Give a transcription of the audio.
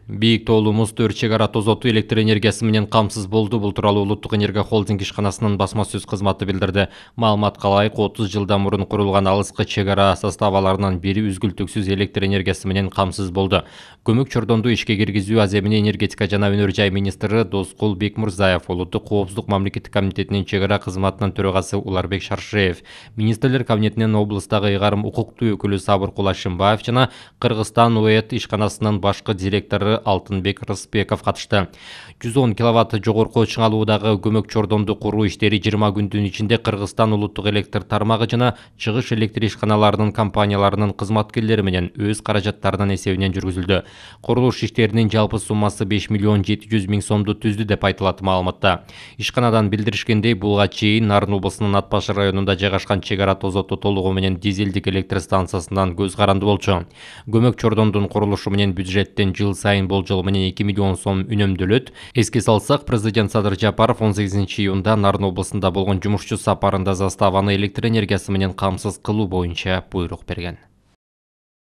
Бийик тоолуу муз төр чек ара тозотуу электр энергиясы менен камсыз болду. Бул тууралуу Улуттук энергия холдинг ишканасынын басма сөз кызматы билдирди. Маалыматка ылайык 30 жылдан мурун курулган алыскы чек ара составаларынын бири үзгүлтүксүз электр энергиясы менен камсыз болду. Көмөк чордонду ишке киргизүү аземини энергетика жана өнөр жай министри Доскул Бекмурзаев, Улуттук коопсуздук мамлекеттик комитетинин чек ара кызматынын төрагасы Уларбек Шаршеев, министрлер кабинетинин облустагы ыйгарым укуктуу өкүлү Сабыр Кулашимбаев жана Кыргызстан УЭТ ишканасынын башкы директору Алтынбек Рыспеков катышты. 110 киловатт жогорку чыңалуудагы көмөк чордонду куруу иштери 20 күндүн ичинде Кыргызстан улуттук электр тармагы жана чыгыш электр ишканаларынын компанияларынын кызматкерлери менен өз каражаттарынын эсебинен жүргүзүлдү. Курулуш иштеринин жалпы суммасы 5 миллион 700 миң сомду түздү деп айтылат маалыматта. Ишканадан билдиришкендей, булга чейин Нарын облусунун Ат Баш районунда жайгашкан чек ара тозоту толугу менен дизелдик электр станциясынан көз каранды болчу. Көмөк чордондун курулушу менен бюджеттен жыл сайын болжол менен 2 миллион сом үнөмдөлөт. Эске салсак, президент Садыр Жапаров 18-июнда Нарын облусунда болгон жумушчу сапарында заставаны электр энергиясы менен камсыз кылуу боюнча буйрук берген.